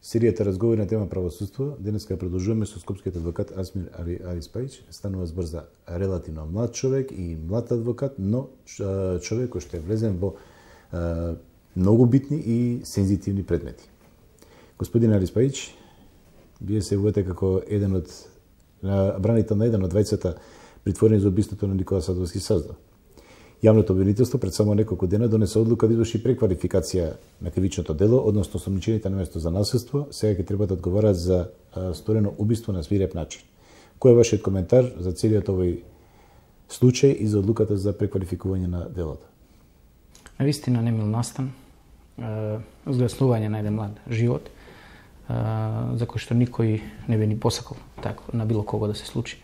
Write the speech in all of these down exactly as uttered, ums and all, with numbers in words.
Серијата разговори на тема правосудство денеска продолжуваме со скопскиот адвокат Асмир Ариспајич. Станува збор за релативно млад човек и млад адвокат, но човек кој што е влезен во а, многу битни и сензитивни предмети. Господин Ариспајич, вие се увете како еден од бранител на еден од двајцата притворени за убиството на Никола Садовски Саздо. Јавното обвинителство пред само неколку дена донесе одлука да изврши преквалификација на кривичното дело, односно осомничените на место за насилство сега ќе треба да одговарат за а, сторено убиство на свиреп начин. Кој е вашиот коментар за целиот овој случај и за одлуката за преквалификување на делото? Навистина немил настан, згласнување на еден млад живот, за кој што никој не би ни посакал така на било кого да се случи.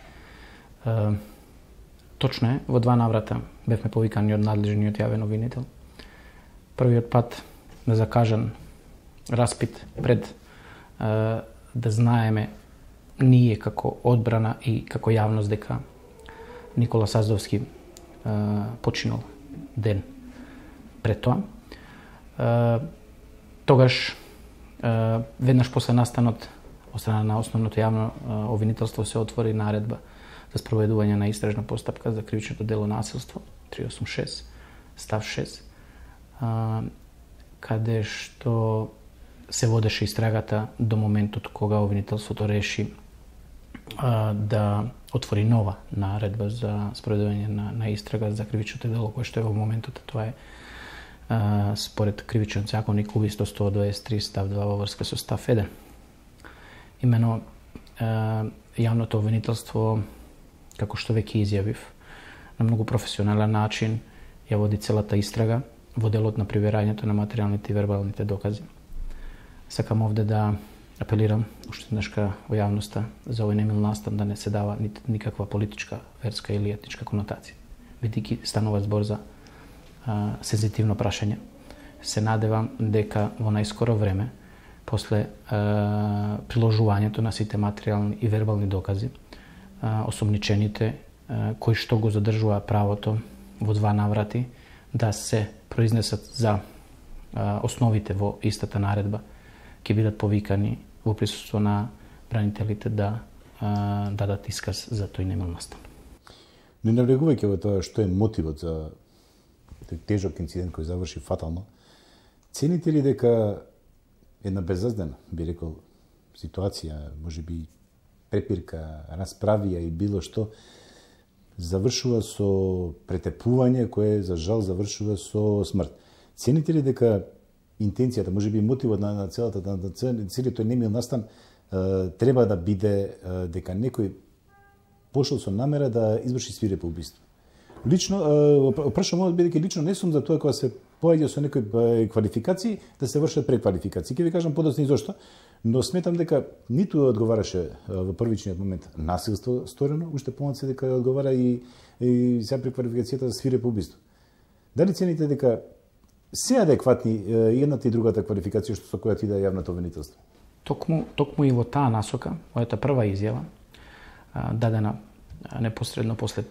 Точно е, во два наврата бевме повикани од надлежниот јавен обвинител. Првиот пат на закажан распит пред е, да знаеме ние како одбрана и како јавност дека Никола Саздовски е, починал ден пред тоа. Е, тогаш е, веднаш после настанот од страна на основното јавно обвинителство се отвори наредба за спроведување на истражна постапка за кривичното дело насилство триста осумдесет и шест став шест, а, каде што се водеше истрагата до моментот кога обвинителството реши а, да отвори нова наредба за спроведување на, на истрага за кривичното дело, кое што е во моментот, тоа е а, според кривичниот законник убиство сто дваесет и три став два во врска со став еден. Имено а, јавното обвинителство, како што веќе изјавив, на многу професионален начин ја води целата истрага во делот на проверањето на материјалните и вербалните докази. Сакам овде да апелирам уште еднашка во јавноста за овој немил настан да не се дава никаква политичка, верска или етничка конотација. Бидејќи станува збор за а, сензитивно прашање, се надевам дека во најскоро време, после а, приложувањето на сите материјални и вербални докази, осомничените кои што го задржува правото во два наврати да се произнесат за основите во истата наредба, ќе бидат повикани во присуство на бранителите да дадат исказ за тој немил настан. Не навлегувајќи во тоа што е мотивот за тој тежок инцидент кој заврши фатално, цените ли дека една безаздена, би рекол, ситуација, можеби препирка, расправија и било што, завршува со претепување кое за жал завршува со смрт. Цените ли дека интенцијата, можеби мотивот на, на целата на, на целиот тој немил настан е, треба да биде е, дека некој пошол со намера да изврши свирепо убиство? Лично, прашам овој бидејќи лично не сум за тоа кога се поаѓа со некои квалификации да се вршат преквалификации. Ќе ви кажам подоцна и зошто, но сметам дека ниту одговараше во првичниот момент насилство сторено, уште помалку дека одговара и, и сега преквалификацијата за свирепо убиство. Дали цените дека се адекватни едната и другата квалификација што со која иде јавното обвинителство? Токму, токму и во таа насока, мојата прва изјава, дадена непосредно после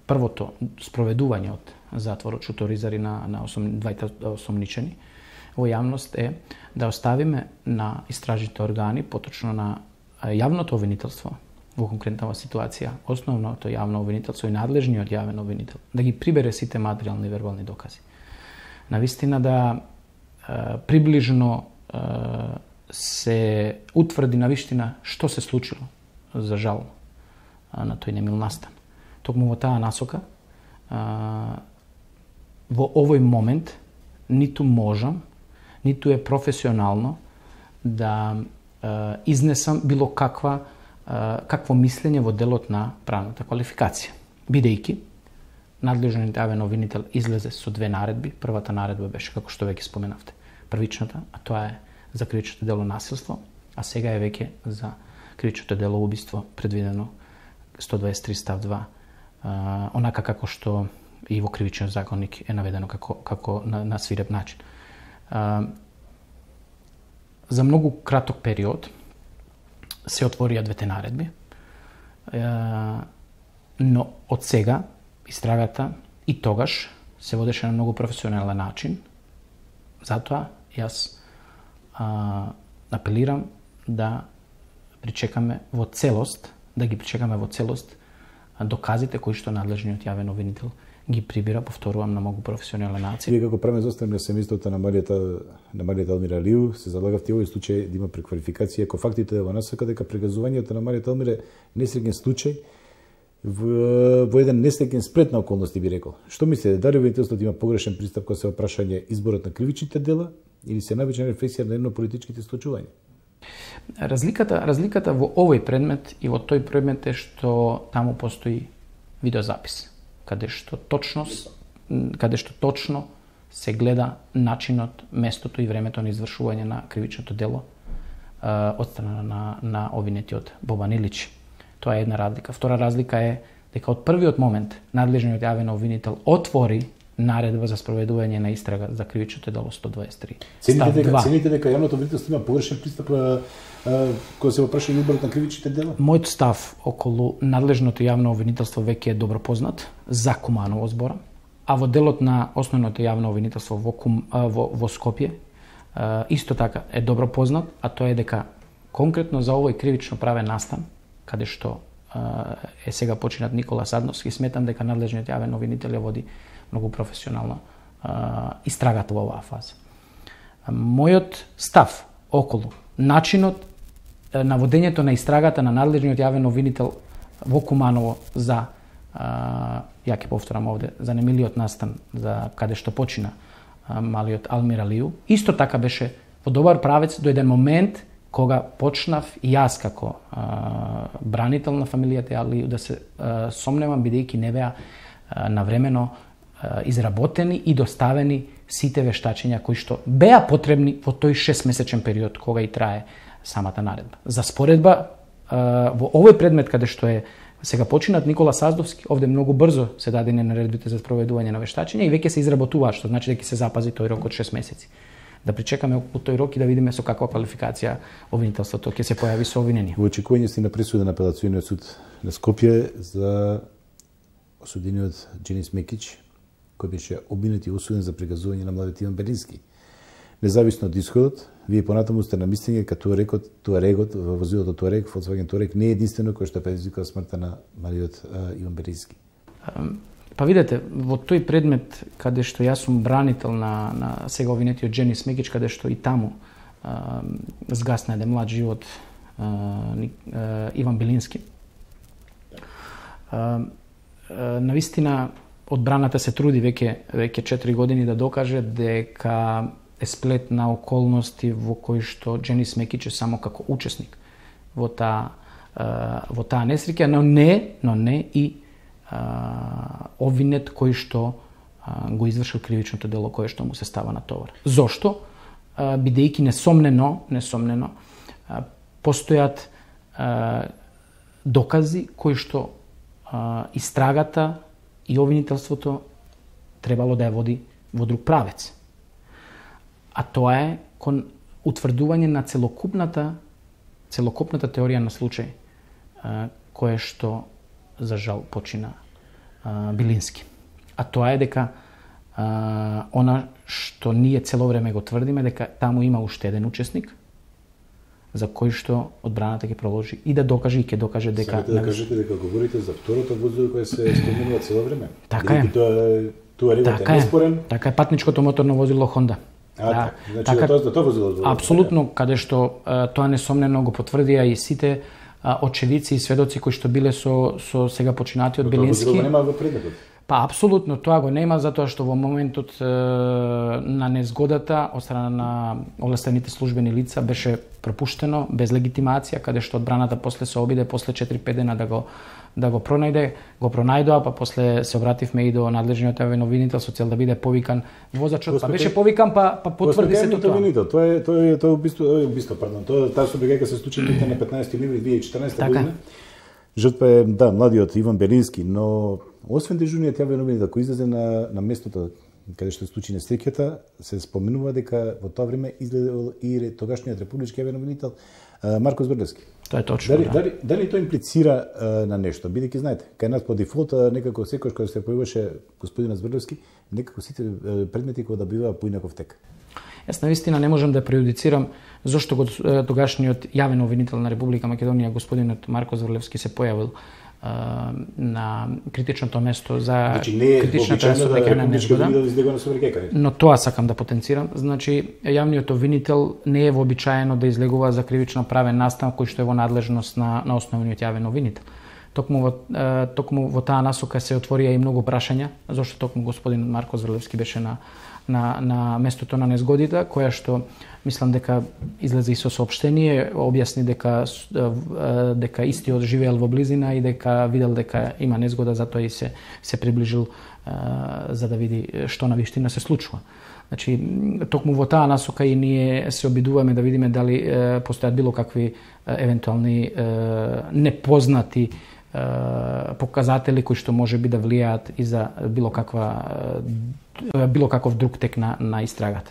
првото спроведување од затворот Шуторизари на, на осом, двајта осомничени во јавност е да оставиме на истражните органи, поточно на јавното обвинителство, во конкретната ситуација, основното јавно обвинителство и надлежниот јавен обвинител, да ги прибере сите материјални и вербални докази. Навистина да е, приближно е, се утврди на виштина што се случило, за жал, на тој немил настан. Токму во таа насока, а, во овој момент ниту можам, ниту е професионално да а, изнесам било каква а, какво мислење во делот на правната квалификација. Бидејќи надлежниот јавен обвинител излезе со две наредби. Првата наредба беше, како што веќе споменавте, првичната, а тоа е за кривичното дело насилство, а сега е веќе за кривичното дело убиство, предвидено сто дваесет и три став два, Uh, онака како што и во кривичниот законник е наведено како, како на, на свиреп начин. Uh, за многу краток период се отворија двете наредби, uh, но од сега истрагата и тогаш се водеше на многу професионален начин. Затоа јас uh, апелирам да причекаме во целост, да ги причекаме во целост доказите кои што надлежниот јавен обвинител ги прибира, повторувам, на многу професионален начин. Вие како правен застапник на семејството на Маријата на Маријата Елмира Алију се залагавте овој случај да има преквалификација, ако фактите во насока дека прегазувањето на Маријата Елмира несреќен случај во, во еден несреќен сплет на околности, би рекол. Што мислите, дали обвинителството има погрешен пристап кога се опрашање изборот на кривичните дела или се највечна рефлексија на едно политичките случувања? Разликата, разликата во овој предмет и во тој предмет е што таму постои видеозапис, каде што точно, каде што точно се гледа начинот, местото и времето на извршување на кривичното дело од страна на, на обвинетиот Бобан Илич. Тоа е една разлика. Втора разлика е дека од првиот момент надлежниот јавен обвинител отвори наредба за спроведување на истрага за кривичното дело сто дваесет и три. Цените дека, цените дека јавното обвинителство има погрешен пристап кога се опраша изборот на кривичните дела? Мојот став околу надлежното јавно обвинителство веќе е добро познат за Куманово збора, а во делот на основното јавно обвинителство во, Кум, во, во Скопје исто така е добро познат, а тоа е дека конкретно за овој кривично правен настан, каде што е сега починат Никола Садновски, сметам дека надлежниот јавен обвинител ја води многу професионално истрагата во оваа фаза. Мојот став околу начинот на водењето на истрагата на надлежниот јавен обвинител во Куманово за, ја ќе повторам овде, за немилиот настан за каде што почина малиот Алмир Алију, исто така беше во добар правец до еден момент кога почнав и јас како а, бранител на фамилијата Алију да се а, сомневам, бидејќи не беа а, навремено а, изработени и доставени сите вештачења кои што беа потребни во тој шестмесечен период кога и трае самата наредба. За споредба а, во овој предмет каде што е сега починат Никола Саздовски, овде многу брзо се дадени наредбите за спроведување на вештачења и веќе се изработуваат, што значи дека се запази тој рок од шест месеци. Да причекаме околу тој рок и да видиме со каква квалификација обвинителството ќе се појави со обвинение. Во очекување сте на пресуда на апелациониот суд на Скопје за осудениот Џенис Мекич, кој беше обвинет и осуден за прегазување на младиот Иван Белински. Независно од исходот, вие понатаму сте на мислење дека Туарегот, Туарегот во возилото Туарег, Volkswagen Туарег не е единствено кој што предизвикал смртта на малиот Иван Белински. Па видете, во тој предмет каде што јас сум бранител на, на сега обвинетиот Џенис Мекич, каде што и таму а, згасна еден млад живот а, а, Иван Белински. А, а, навистина, одбраната се труди веќе веќе четири години да докаже дека е сплет на околности во кои што Џенис Мекич е само како учесник во таа во таа несреќа, но не, но не и Uh, обвинет кој што uh, го извршил кривичното дело кое што му се става на товар. Зошто? Uh, бидејќи несомнено, несомнено uh, постојат uh, докази кои што uh, истрагата и обвинителството требало да ја води во друг правец. А тоа е кон утврдување на целокупната целокупната теорија на случај uh, кое што за жал почина а, Белински. А тоа е дека а, она што ние цело време го тврдиме, дека таму има уште еден учесник за кој што одбраната ќе проложи и да докаже и ќе докаже дека... Самите да кажете дека говорите за второто возило кое се споменува цело време. Така е. Тоа, тоа така е неспорен. Така е, патничкото моторно возило Honda. А, да, значи така, тоа за тоа возило. Апсолутно, каде што а, тоа несомнено го потврдија и сите очевидци и сведоци кои што биле со со сега починатиот Белински. Тоа нема во предметот. Па апсолутно тоа го нема затоа што во моментот е, на незгодата од страна на овластените службени лица беше пропуштено без легитимација, каде што одбраната после се обиде после четири-пет дена да го да го пронајде, го пронајдоа, па после се обративме и до надлежниот јавен обвинител со цел да биде повикан возачот, па беше повикан, па па потврди се тоа. Тоа е тоа е тоа убиство, убиство, пардон. Тоа таа собегајка се случи на петнаесети ноември две илјади и четрнаесета година. Жртва е, да, младиот Иван Белински, но освен дежурниот јавен обвинител кој излезе на на местото каде што се случи несреќата, се споменува дека во тоа време излезел и тогашниот републички јавен обвинител Марко Збрлевски. Тоа е точно. Дали, да. дали, дали тоа имплицира а, на нешто? Бидејќи знаете, кај нас по дефолт некако секој кој се појаваше господинот Збрлевски, некако сите предмети кои да биваа поинаков тек. Јас навистина не можам да преюдицирам зошто го тогашниот јавен обвинител на Република Македонија, господинот Марко Зврлевски, се појавил на критичното место за значи, не е критичната судеќа незгода. Да, но тоа сакам да потенцирам. Значи, јавниот обвинител не е вообичаено да излегува за кривично правен настан кој што е во надлежност на, на основниот јавен обвинител. Токму во, токму во таа насока се отворија и многу прашања, зашто токму господин Марко Зврлевски беше на, на, на местото на незгодите, која што мислам дека излезе и со соопштение, објасни дека дека истиот живеел во близина и дека видел дека има незгода, затоа и се се приближил за да види што на вистина се случува. Значи, токму во таа насока и ние се обидуваме да видиме дали постојат било какви евентуални непознати показатели кои што може би да влијаат и за било каква било каков друг тек на, на истрагата.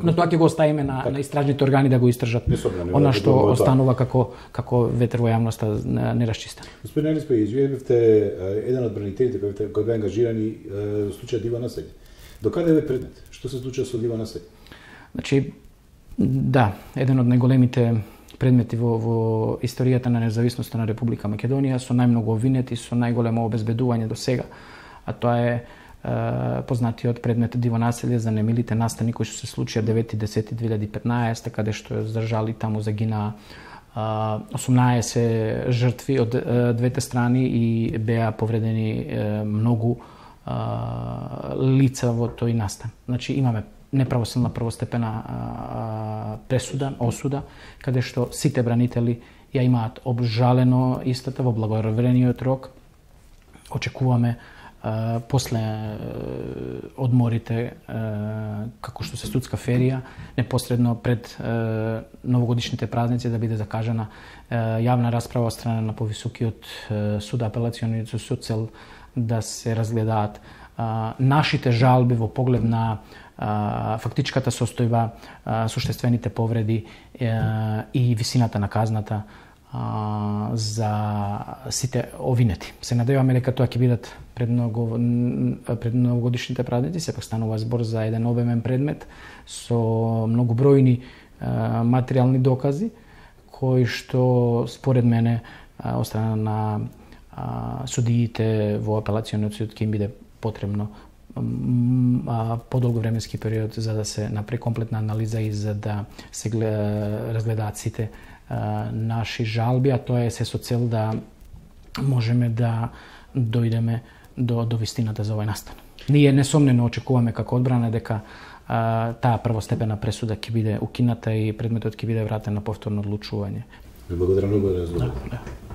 Но тоа ќе го оставиме на, на истражните органи да го истражат она што останува како како ветер во јавноста нерасчистен. Господин Елиспе, изјавивте еден од бранителите кој кој беа ангажирани во случајот Дива населје. До каде е предмет? Што се случува со Дива населје? Значи, да, еден од најголемите предмети во, во историјата на независноста на Република Македонија, со најмногу обвинети, со најголемо обезбедување до сега, а тоа е познатиот предмет Диво населје за немилите настани кои што се случија девети десети две илјади и петнаесета, каде што здржали таму загинаа осумнаесет жртви од двете страни и беа повредени многу лица во тој настан. Значи имаме неправосилна првостепена пресуда, осуда, каде што сите бранители ја имаат обжалено истата во благоврениот рок. Очекуваме Uh, после uh, одморите uh, како што се судска ферија, непосредно пред uh, новогодишните празници да биде закажана uh, јавна расправа од страна на повисокиот uh, суд, апелациониот суд, со цел да се разгледаат uh, нашите жалби во поглед на uh, фактичката состојба, uh, суштествените повреди uh, и висината на казната за сите овинети. Се надеваме дека тоа ќе бидат пред многу пред новогодишните празници, сепак станува збор за еден обемен предмет со многу бројни материјални докази кои што според мене од страна на судиите во апелациониот суд ќе им биде потребно подолго временски период за да се направи комплетна анализа и за да се разгледаат сите наши жалби, а тоа е се со цел да можеме да дојдеме до, до вистината за овој настан. Ние несомнено очекуваме како одбрана дека а, таа првостепена пресуда ќе биде укината и предметот ќе биде вратен на повторно одлучување. Благодарам многу за разговорот. Да, да.